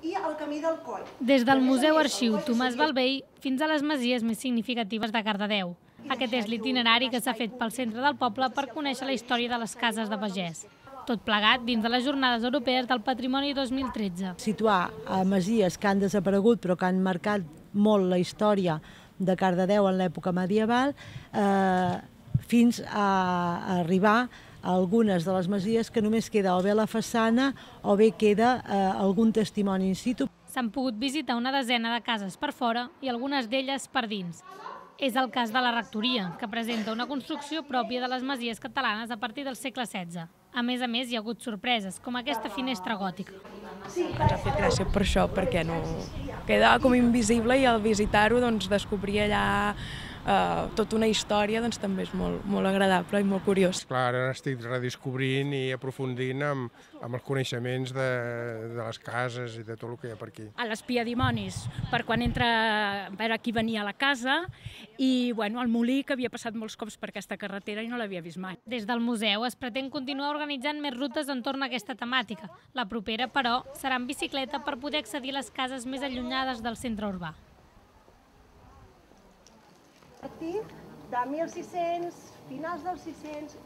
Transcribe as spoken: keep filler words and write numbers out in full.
i el camí del Coll. Des del Museu Arxiu Tomàs Balvell fins a les masies més significatives de Cardedeu. Aquest és l'itinerari que s'ha fet pel centre del poble per conèixer la història de les cases de pagès. Tot plegat dins de les Jornades Europees del Patrimoni dos mil tretze. Situar a masies que han desaparegut però que han marcat molt la història de Cardedeu en l'època medieval eh, fins a arribar a algunes de les masies que només queda o bé la façana o bé queda eh, algun testimoni in situ. S'han pogut visitar una desena de cases per fora i algunes d'elles per dins. És el cas de la rectoria, que presenta una construcció pròpia de les masies catalanes a partir del segle setze. A més a més, hi ha hagut sorpreses, com aquesta finestra gòtica. Ens ha fet gràcia per això, perquè no queda com invisible i al visitar-ho doncs, descobrir allà eh, tota una història doncs, també és molt, molt agradable i molt curiós. Clar, ara estic redescobrint i aprofundint amb, amb els coneixements de, de les cases i de tot el que hi ha per aquí. A l'espiadimonis, per quan entra a veure qui venia a la casa, i bueno, el molí, que havia passat molts cops per aquesta carretera i no l'havia vist mai. Des del museu es pretén continuar organitzant més rutes entorn a aquesta temàtica. La propera, però, serà en bicicleta per poder accedir a les cases més allunyades del centre urbà. A partir de mil sis-cents, finals dels sis-cents...